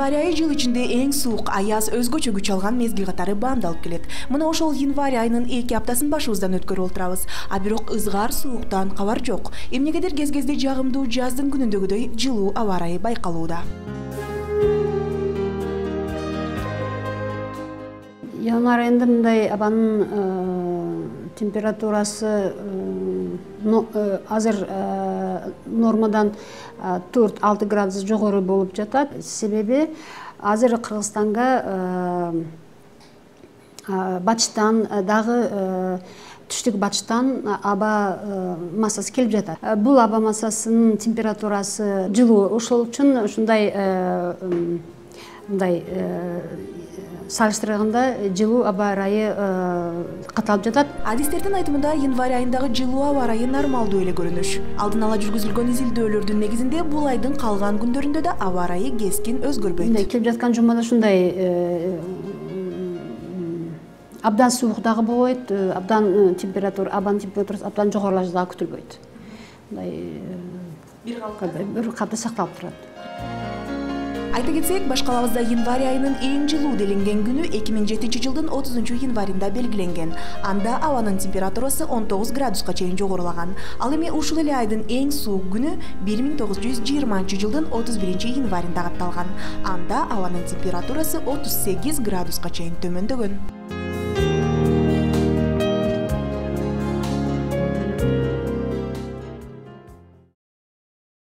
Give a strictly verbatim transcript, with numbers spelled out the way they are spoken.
Январь айы жыл ичинде эң суук, аяз, өзгөчө күч алган мезгил катары баамдалып келет. Мына ошол январь айынын эки аптасын башыбыздан өткөрүп отурабыз. А бирок ызгар сууктан кабар жок. Эмнегедир кез-кезде жагымдуу жаздын күнүндөгүдөй жылуу аба ырайы байкалууда. Январь айында мындай абанын температурасы азыр нормадан төрт алты градус жогору болуп жатат. Себеби азыр Кыргызстанга батыштан дагы түштүк батыштан аба массасы келип жатат. Бул аба массасынын температурасы жылуу, ошол үчүн ушундай мындай салыштырганда жылуу аба ырайы катталып жатат. Адистердин айтымында январь айындагы жылуу аба ырайы нормалдуу эле көрүнүш. Алдын ала жүргүзүлгөн изилдөөлөрдүн негизинде бул айдын калган күндөрүндө да аба ырайы кескин өзгөрбөйт. Келип жаткан жумада ушундай абдан суук дагы болбойт, абдан температура, абанын температурасы абдан жогорулашы дагы күтүлбөйт. Мындай бир катта сакталып турат. Айта кетсек, баш калабызда январь айынын эң жылуу делинген күнү эки миң жетинчи жылдын отузунчу январында белгиленген. Анда абанын температурасы он тогуз градуска чейин жогорулаган. Ал эми ушул эле айдын эң суук күнү бир миң тогуз жүз жыйырманчы жылдын отуз биринчи январында катталган. Анда абанын температурасы отуз сегиз градуска чейин төмөндөгөн.